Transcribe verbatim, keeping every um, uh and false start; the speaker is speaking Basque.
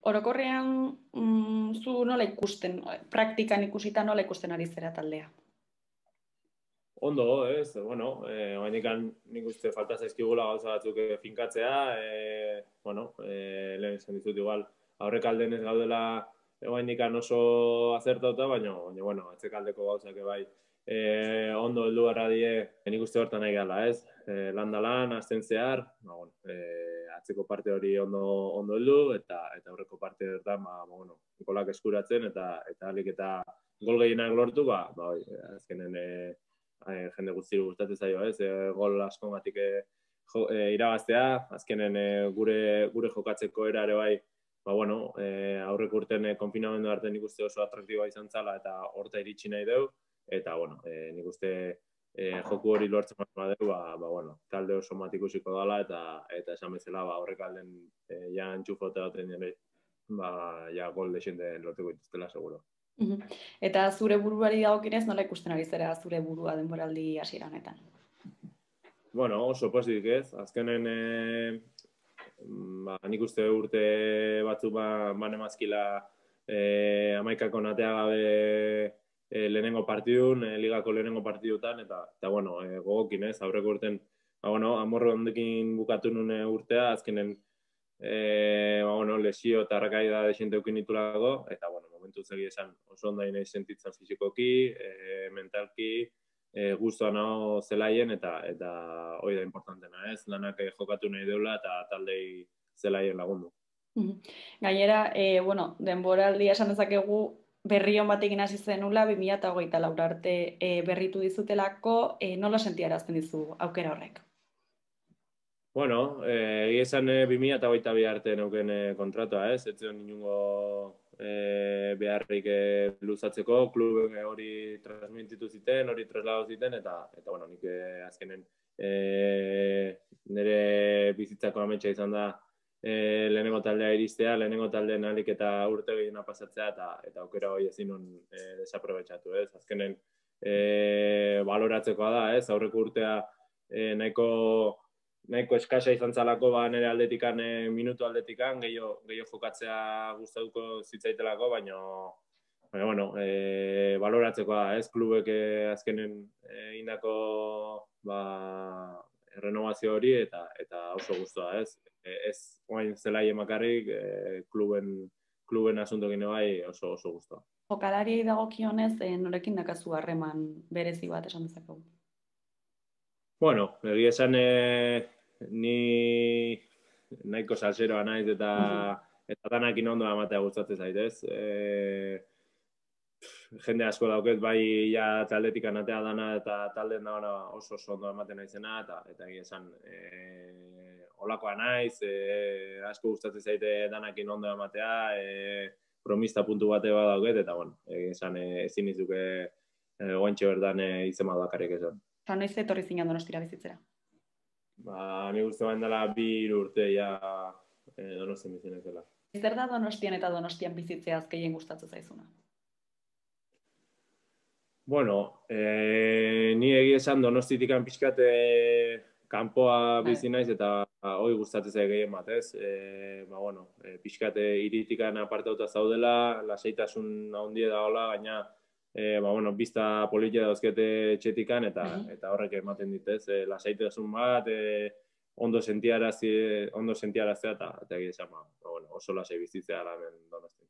orokorrean mm, zu nola ikusten, praktikan ikusita nola ikusten ari zera taldea? Ondo, ez, bueno, eh, oainikan nik uste falta zaizkigula gauza batzuk eh, finkatzea, eh, bueno, eh, lehen esan dizut igual, aurrek alden ez gaudela oainikan oso azertauta, baina, baina, bueno, atzekaldeko gauzak bai, eh, ondo heldu gara die, nik uste hortan nahi gala, ez, eh, lan da lan, azten zehar, ba, bueno, eh, atzeko parte hori ondo, ondo heldu, eta eta aurreko parte hortan, ba, ba, bueno, golak eskuratzen, eta eta alik eta gol gehienak lortu, ba, ba, oi, azkenen, eh, E, jende guztiru gustatzen zaio, ez? E, gol askongatik e, e, irabaztea, azkenen e, gure gure jokatzeko era ere bai, ba bueno, e, aurreko urten e, konfinamendu arte nik uste oso atraktiboa izan zala eta horta iritsi nahi deu, eta bueno, e, nik uste e, joku hori lortzen badeu, ba, ba bueno, talde oso mat ikusiko dala eta eta esan bezala, ba aurrek alden e, ja entxufote daten jende, ba ja gol desente lortuko dituztela seguro. Eta zure buruari dagokionez nola ikusten ari zera zure burua denboraldi hasiera honetan? Bueno, oso pozik ez, azkenen e, ba, nik uste urte batzu ba, banemazkila e, amaikako natea gabe e, lehenengo partidun, e, ligako lehenengo partidutan, eta, eta bueno, e, gogokin ez, aurreko urten, ba, bueno, amorro ondekin bukatu nune urtea, azkenen e, ba, bueno, lesio eta arrakaida desente eukin ditulako, eta bueno, momentu zegi esan oso ondai nahi sentitzen fizikoki, e, mentalki, e, guztua nago zelaien, eta eta hori da importantena, ez? Lanak jokatu nahi deula eta taldei zelaien lagundu. Gainera, e, bueno, denboraldia esan dezakegu berri on batekin hasi zenula, bi mila hogeita lau arte e, berritu dizutelako, e, nola sentiarazten dizu aukera horrek? Bueno, egia eh, esan eh, bi mila hogeita bi arte neuken eh, kontratua, ez? Ez zion inungo eh, beharrik eh, luzatzeko, klubek hori transmititu ziten, hori traslado ziten, eta, eta bueno, nik eh, azkenen eh, nire bizitzako ametsa izan da eh, lehenengo taldea iristea, lehenengo taldeen alik eta urte gehiena pasatzea, eta, eta aukera hori ezin nun eh, desaprobetxatu, ez? Azkenen eh, baloratzekoa da, ez? Aurreko urtea eh, nahiko nahiko eskasa izan zalako, ba, nire aldetikan, e, minutu aldetikan, gehiago, gehiago jokatzea gustatuko zitzaitelako, baina, baina, bueno, e, baloratzeko da, ez, klubek e, azkenen e, indako, ba, renovazio hori, eta eta oso guztua, ez, e, ez, oain zelai emakarrik, e, kluben, kluben asuntokin bai oso oso guztua. Jokalariei dagokionez, e, norekin dakazu harreman berezi bat esan dezakegu? Bueno, egia esan e, ni nahiko salseroa naiz eta eta danakin ondo amatea gustatzen zaitez. E, jende asko dauket bai ja taldetik anatea dana eta talden dagoena oso oso ondo ematen naizena eta eta egia esan e, olakoa naiz, e, asko gustatzen zaite danakin ondo ematea, e, promista puntu bate badauket eta bueno, egia esan e, ezin izuke e, goantxe berdan e, izema dakarrik esan. Eta noiz etorri zinen Donostira bizitzera? Ba, ni guzti bain dela bi urte ja eh, Donostian bizitzen ezela. Zer da Donostian eta Donostian bizitzeaz gehien gustatzen zaizuna? Bueno, eh, ni egia esan Donostitikan pixkat eh, kanpoa bizi naiz eta hori gustatzen zait gehien bat, ez? Eh, ba, bueno, eh, pixkat iritikan apartauta zaudela, lasaitasun handia dagoela, gaina E, ba, bueno, bizta politia dauzkete txetikan eta uh-huh. eta horrek ematen ditez, e, lasaitasun bat, e, ondo sentiarazi, ondo sentiaraztea eta eta egia esan, ba, bueno, oso lasai bizitzea hemen Donostian.